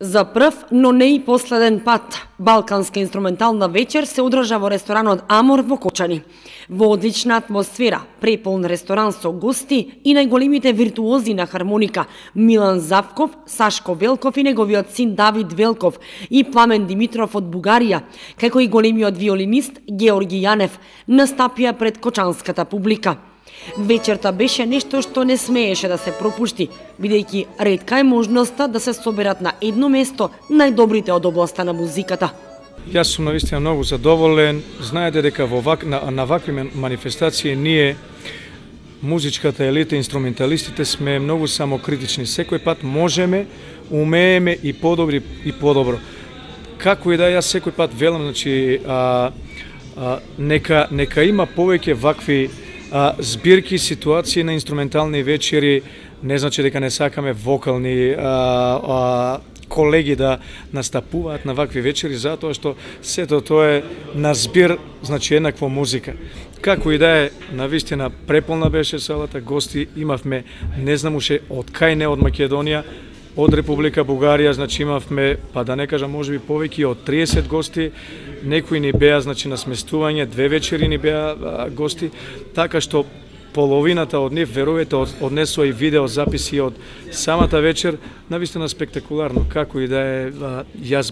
За прв, но не и последен пат, балканска инструментална вечер се одржа во ресторанот Амор во Кочани. Во одлична атмосфера, преполн ресторан со гости и најголемите виртуози на хармоника Милан Завков, Сашко Велков и неговиот син Давид Велков и Пламен Димитров од Бугарија, како и големиот виолинист Георги Јанев, настапија пред кочанската публика. Вечерта беше нешто што не смееше да се пропушти, бидејќи ретка е можноста да се соберат на едно место најдобрите од областа на музиката. Јас сум навистина многу задоволен. Знаете дека на вакви манифестации ние, музичката елита, инструменталистите, сме многу самокритични. Секој пат можеме, умееме и подобри и подобро. Како и да јас секој пат велам, значи нека има повеќе вакви збирки, ситуации на инструментални вечери. Не значи дека не сакаме вокални колеги да настапуваат на вакви вечери, затоа што сето тоа е на збир, значи еднаква музика. Како и да е, навистина преполна беше салата, гости имавме, не знам уште од кај не од Македонија, од Република Бугарија, значи имавме, па да не кажам, можеби повеќе од 30 гости, некои ни беа, значи на сместување, 2 вечери ни беа гости, така што половината од нив, верувате, однесува и видео записи од самата вечер, навистина спектакуларно. Како и да е, јас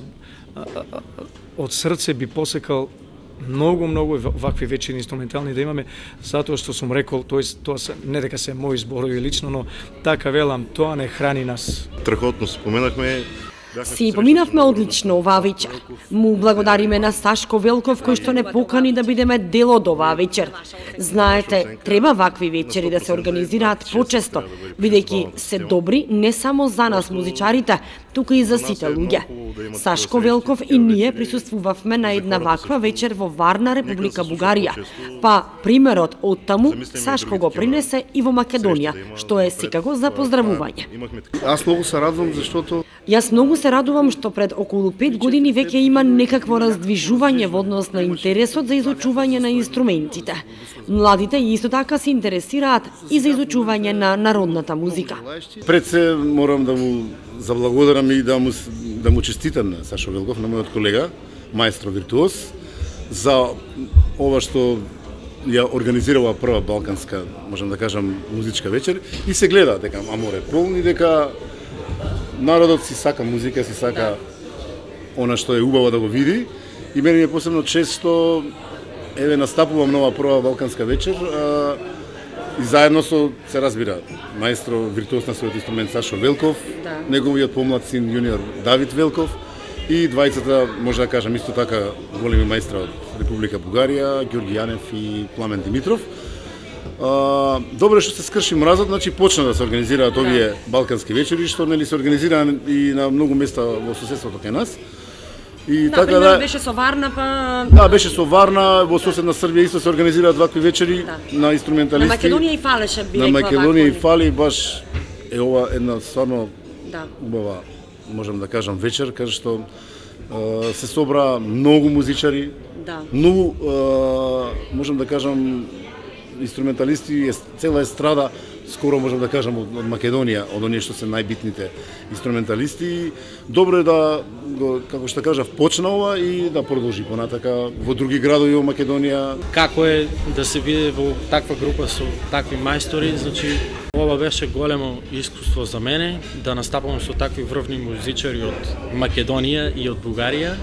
од срце би посекал многу вакви вечери инструментални да имаме, затоа што сум рекол, тоа се не дека се мои зборови лично, но така велам, тоа не храни нас. Страхотно споменахме. Си поминавме одлично оваа вечер. Му благодариме на Сашко Велков кој што не покани да бидеме дел од оваа вечер. Знаете, треба вакви вечери да се организираат почесто, бидејќи се добри не само за нас музичарите, туку и за сите луѓе. Сашко Велков и ние присуствувавме на една ваква вечер во Варна, Република Бугарија. Па примерот од таму Сашко го принесе и во Македонија, што е секако за поздравување. Аз многу се радувам заштото Јас многу се радувам што пред околу 5 години веќе има некакво раздвижување во однос на интересот за изучување на инструментите. Младите исто така се интересираат и за изучување на народната музика. Пред се морам да му заблагодарам и да му честитам на Сашо Велков, на мојот колега, маестро виртуоз, за ова што ја организирала прва балканска, можам да кажам, музичка вечер и се гледа дека Амор е полн и дека народот си сака музика, си сака она што е убаво да го види. И мене ми е посебно чест што настапувам нова прва балканска вечер и заедно со, се разбира, маестро виртуоз на својот инструмент Сашо Велков, неговиот помлад син јуниор Давид Велков и двајцата, може да кажам исто така, големи маестра од Република Бугарија, Георги Јанев и Пламен Димитров. Добре што се скрши мразот, значи почна да се организираат овие балкански вечери, што нели се организира и на многу места во соседството кај нас. И така да беше со Варна, па беше со Варна, во соседна Србија исто се организираат вакви вечери на инструменталисти. На Македонија и фалеше, би рекла. На Македонија и фали, баш е ова една стварно убава, можам да кажам, вечер, каде што се собра многу музичари, многу, можам да кажам, инструменталисти, цела естрада, скоро можам да кажам од Македонија, од оние што се најбитните инструменталисти. Добро е да, како што кажав, почна ова и да продолжи понатака во други градови во Македонија. Како е да се види во таква група со такви мајстори, значи ова беше големо искуство за мене, да настапам со такви врвни музичари од Македонија и од Бугарија.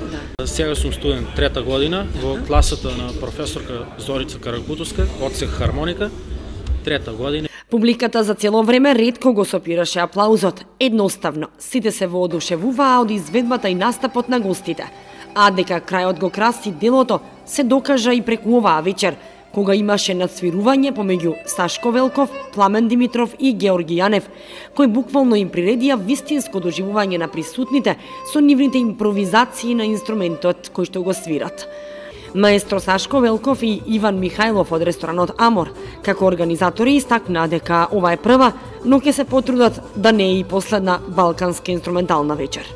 Сега сум студент трета година во класата на професорка Зорица Каракутовска, одсек хармоника, трета година. Публиката за цело време ретко го сопираше аплаузот. Едноставно, сите се воодушевуваа од изведбата и настапот на гостите. А дека крајот го краси делото, се докажа и преку оваа вечер, кога имаше надсвирување помеѓу Сашко Велков, Пламен Димитров и Георги Јанев, кои буквално им приредија вистинско доживување на присутните со нивните импровизации на инструментот кој што го свират. Маестро Сашко Велков и Иван Михајлов од ресторанот Амор, како организатори, истакнаа дека ова е прва, но ќе се потрудат да не е и последна балканска инструментална вечер.